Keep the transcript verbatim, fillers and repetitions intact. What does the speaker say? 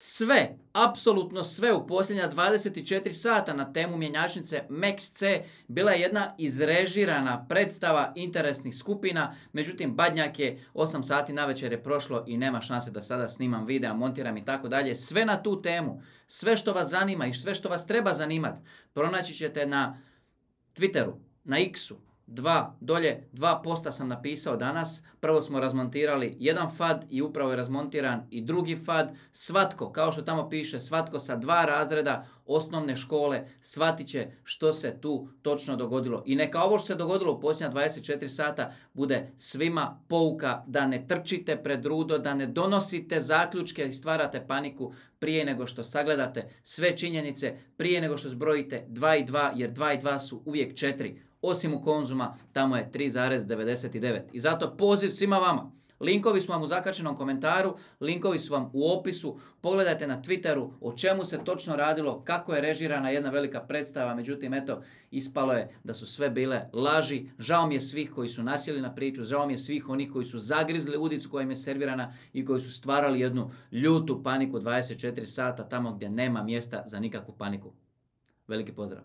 Sve, apsolutno sve u posljednja dvadeset četiri sata na temu mjenjačnice Max C bila je jedna izrežirana predstava interesnih skupina, međutim Badnjak je osam sati navečer je prošlo i nema šanse da sada snimam videa, montiram i tako dalje. Sve na tu temu, sve što vas zanima i sve što vas treba zanimati, pronaći ćete na Twitteru, na X-u. Dva, dolje, dva posta sam napisao danas. Prvo smo razmontirali jedan fad i upravo je razmontiran i drugi fad. Svatko, kao što tamo piše, svatko sa dva razreda osnovne škole shvatit će što se tu točno dogodilo. I neka ovo što se dogodilo u posljednja dvadeset četiri sata bude svima pouka da ne trčite pred rudo, da ne donosite zaključke i stvarate paniku prije nego što sagledate sve činjenice, prije nego što zbrojite dva i dva, jer dva i dva su uvijek četiri. Osim u Konzuma, tamo je tri zarez devedeset devet. I zato poziv svima vama. Linkovi su vam u zakačenom komentaru, linkovi su vam u opisu. Pogledajte na Twitteru o čemu se točno radilo, kako je režirana jedna velika predstava. Međutim, eto, ispalo je da su sve bile laži. Žao mi je svih koji su nasjeli na priču, žao mi je svih onih koji su zagrizli udicu koja im je servirana i koji su stvarali jednu ljutu paniku dvadeset četiri sata tamo gdje nema mjesta za nikakvu paniku. Veliki pozdrav.